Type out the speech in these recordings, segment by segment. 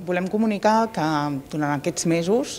Volem comunicar que durant aquests mesos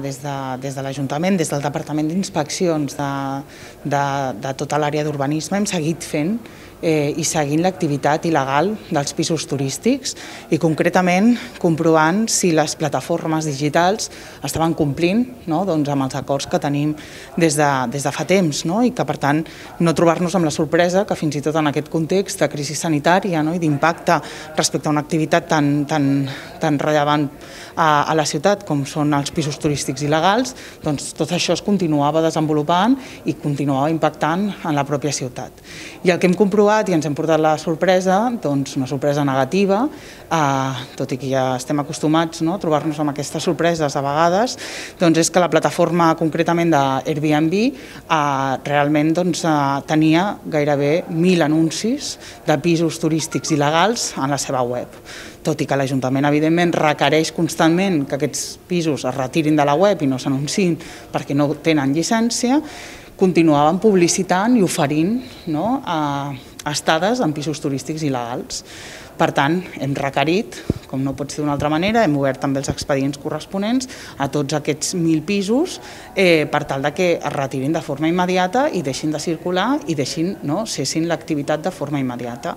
des de l'Ajuntament, des del Departament d'Inspeccions de tota l'àrea d'urbanisme hem seguit fent i seguint l'activitat il·legal dels pisos turístics i concretament comprovant si les plataformes digitals estaven complint amb els acords que tenim des de fa temps i que per tant no trobar-nos amb la sorpresa que fins i tot en aquest context de crisi sanitària i d'impacte respecte a una activitat tan rellevant a la ciutat com són els pisos turístics il·legals, doncs tot això es continuava desenvolupant i continuava impactant en la pròpia ciutat. I el que hem comprovat i ens hem portat la sorpresa, doncs una sorpresa negativa, tot i que ja estem acostumats a trobar-nos amb aquestes sorpreses a vegades, doncs és que la plataforma concretament d'Airbnb realment tenia gairebé 1.000 anuncis de pisos turístics il·legals en la seva web. Tot i que l'Ajuntament, evidentment, requereix constantment que aquests pisos es retirin de la web i no s'anunciïn perquè no tenen llicència, continuaven publicitant i oferint estades en pisos turístics il·legals. Per tant, hem requerit, com no pot ser d'una altra manera, hem obert també els expedients corresponents a tots aquests 1.000 pisos per tal que es retirin de forma immediata i deixin de circular i cessin l'activitat de forma immediata.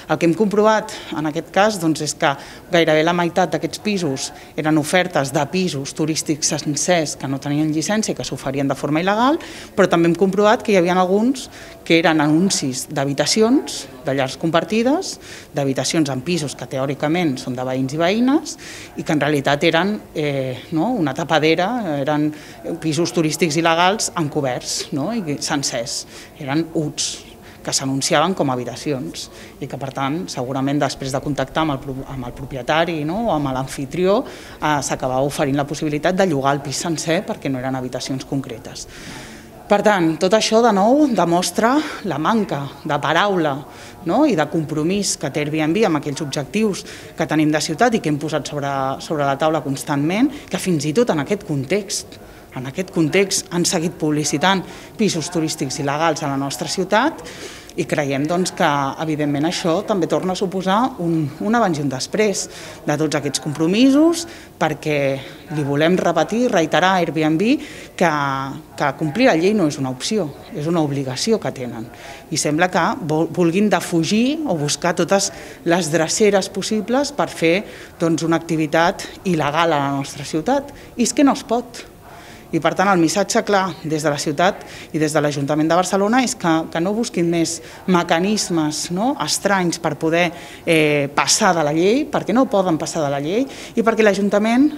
El que hem comprovat en aquest cas és que gairebé la meitat d'aquests pisos eren ofertes de pisos turístics sencers que no tenien llicència i que s'oferien de forma il·legal, però també hem comprovat que hi havia alguns que eren anuncis d'habitacions, de llars compartides, d'habitacions en pisos que teòricament són de veïns i veïnes i que en realitat eren una tapadera, eren pisos turístics il·legals encoberts i sencers, eren UTs que s'anunciaven com a habitacions i que per tant segurament després de contactar amb el propietari o amb l'amfitrió s'acabava oferint la possibilitat de llogar el pis sencer perquè no eren habitacions concretes. Per tant, tot això de nou demostra la manca de paraula i de compromís que té Airbnb amb aquells objectius que tenim de ciutat i que hem posat sobre la taula constantment, que fins i tot en aquest context han seguit publicitant pisos turístics il·legals a la nostra ciutat i creiem que evidentment això també torna a suposar un abans i un després de tots aquests compromisos perquè li volem repetir i reiterar a Airbnb que complir la llei no és una opció, és una obligació que tenen i sembla que vulguin defugir o buscar totes les dreceres possibles per fer una activitat il·legal a la nostra ciutat i és que no es pot. I per tant el missatge clar des de la ciutat i des de l'Ajuntament de Barcelona és que no busquin més mecanismes estranys per poder passar de la llei, perquè no poden passar de la llei i perquè l'Ajuntament,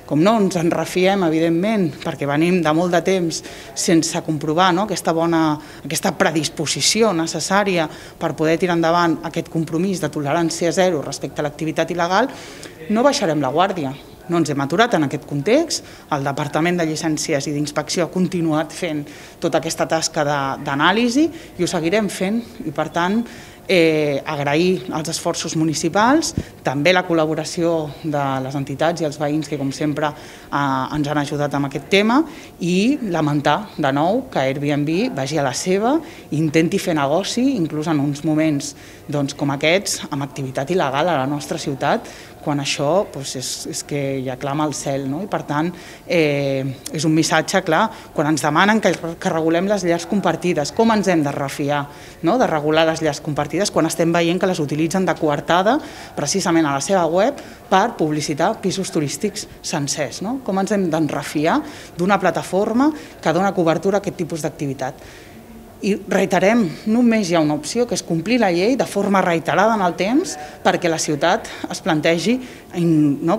com no ens en refiem evidentment perquè venim de molt de temps sense comprovar aquesta predisposició necessària per poder tirar endavant aquest compromís de tolerància zero respecte a l'activitat il·legal, no baixarem la guàrdia. No ens hem aturat en aquest context, el Departament de Llicències i d'Inspecció ha continuat fent tota aquesta tasca d'anàlisi i ho seguirem fent i per tant agrair els esforços municipals, també la col·laboració de les entitats i els veïns que com sempre ens han ajudat amb aquest tema i lamentar de nou que Airbnb vagi a la seva i intenti fer negoci inclús en uns moments com aquests amb activitat il·legal a la nostra ciutat quan això és que ja clama al cel i per tant és un missatge clar quan ens demanen que regulem les llars compartides, com ens hem de refiar de regular les llars compartides quan estem veient que les utilitzen de coartada precisament a la seva web per publicitar pisos turístics sencers. Com ens hem de refiar d'una plataforma que dona cobertura a aquest tipus d'activitat? I reiterem, només hi ha una opció, que és complir la llei de forma reiterada en el temps perquè la ciutat es plantegi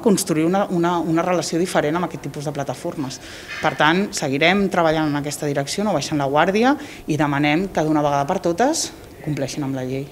construir una relació diferent amb aquest tipus de plataformes. Per tant, seguirem treballant en aquesta direcció, no baixant la guàrdia i demanem que d'una vegada per totes compleixin amb la llei.